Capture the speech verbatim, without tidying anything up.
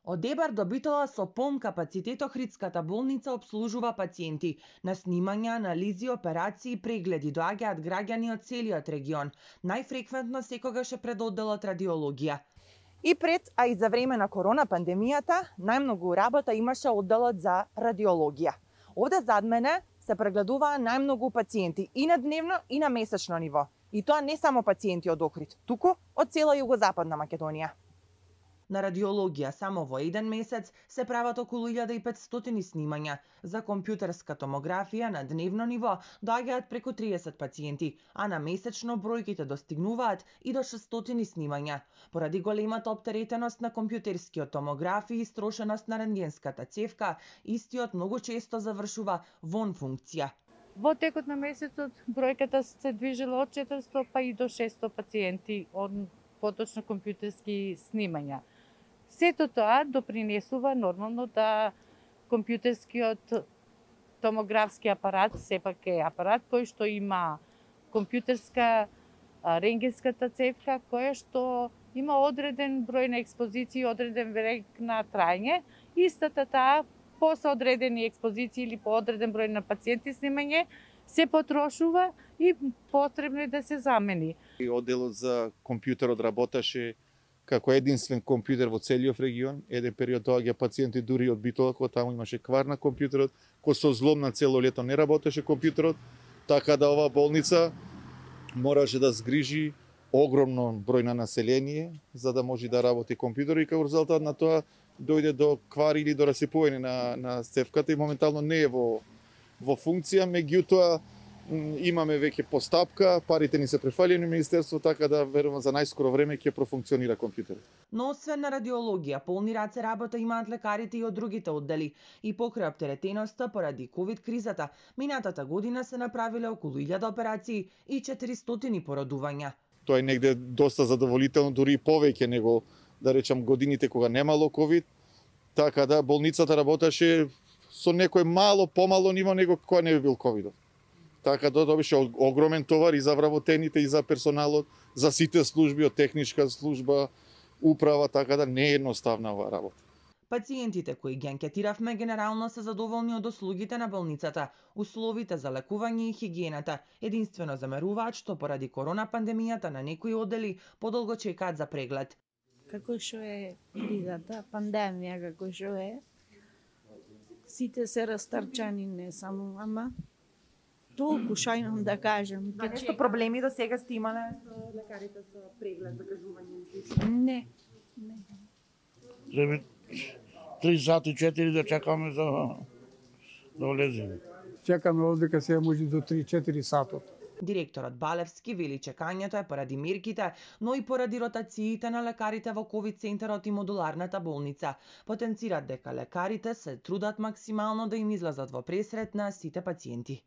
Од ЕБАР до Битола со полн капацитет Охридската болница обслужува пациенти. На снимања, анализи, операции и прегледи доаѓаат граѓани од целиот регион. Најфреквентно секогаш е пред одделот радиологија. И пред, а и за време на корона пандемијата, најмногу работа имаше одделот за радиологија. Овде зад мене се прегледуваа најмногу пациенти и на дневно и на месечно ниво. И тоа не само пациенти од Охрид, туку од цела југозападна Македонија. На радиологија само во еден месец се прават околу илјада и петстотини снимања. За компјутерска томографија на дневно ниво доаѓаат преку триесет пациенти, а на месечно бројките достигнуваат и до шестстотини снимања. Поради големата оптеретеност на компјутерскиот томограф и истрошеност на рентгенската цевка, истиот многу често завршува вон функција. Во текот на месецот бројката се движела од четиристо па и до шестстотини пациенти од поточно компјутерски снимања. Сето тоа допринесува нормално да компјутерскиот томографски апарат сепак е апарат кој што има компјутерска рентгенската цевка која што има одреден број на експозиции, одреден век на трајање. Истата таа по соодредени експозиции или по одреден број на пациенти снимање се потрошува и потребно е да се замени. Одделот за компјутерот работеше како единствен компјутер во целиот регион. Еден период доаѓа пациенти дури од Битола, кога таму имаше квар на компјутерот, кој со злом на цело лето не работеше компјутерот, така да оваа болница мораше да згрижи огромно број на население за да може да работи компјутер и како резултат на тоа дојде до квари или до расипување на на цевката и моментално не е во во функција, меѓутоа имаме веќе постапка, парите ни се префалени министерство, така да верувам за најскоро време ќе профункционира компјутерот. Но освен на радиологија, полни раце работа имаат лекарите и од другите оддели. И покрај оптеретеноста поради ковид кризата, минатата година се направиле околу илјада операции и четиристотини породувања. Тоа е негде доста задоволително, дури и повеќе него, да речам, годините кога немало ковид, така да болницата работеше со некој мало помало ниво него кога не би бил ковидот. Така да добише огромен товар и за вработените и за персоналот, за сите служби, од техничка служба, управа, така да не е едноставна оваа работа. Пациентите кои ги анкетиравме генерално се задоволни од услугите на болницата, условите за лекување и хигиената. Единствено замеруваат што поради корона пандемијата на некои оддели подолго чекаат за преглед. Како што е кризата, пандемија како што е, сите се растрчани, не само, ама толку што имам да кажам. А нешто проблеми до сега сте имале со лекарите со преглед, закажување? Не, не. Треба три сати, четири да чекаме за да влеземе. Чекаме овдека сега може до три-четири сатот. Директорот Балевски вели чекањето е поради мерките, но и поради ротациите на лекарите во ковид центарот и модуларната болница. Потенцират дека лекарите се трудат максимално да им излезат во пресрет на сите пациенти.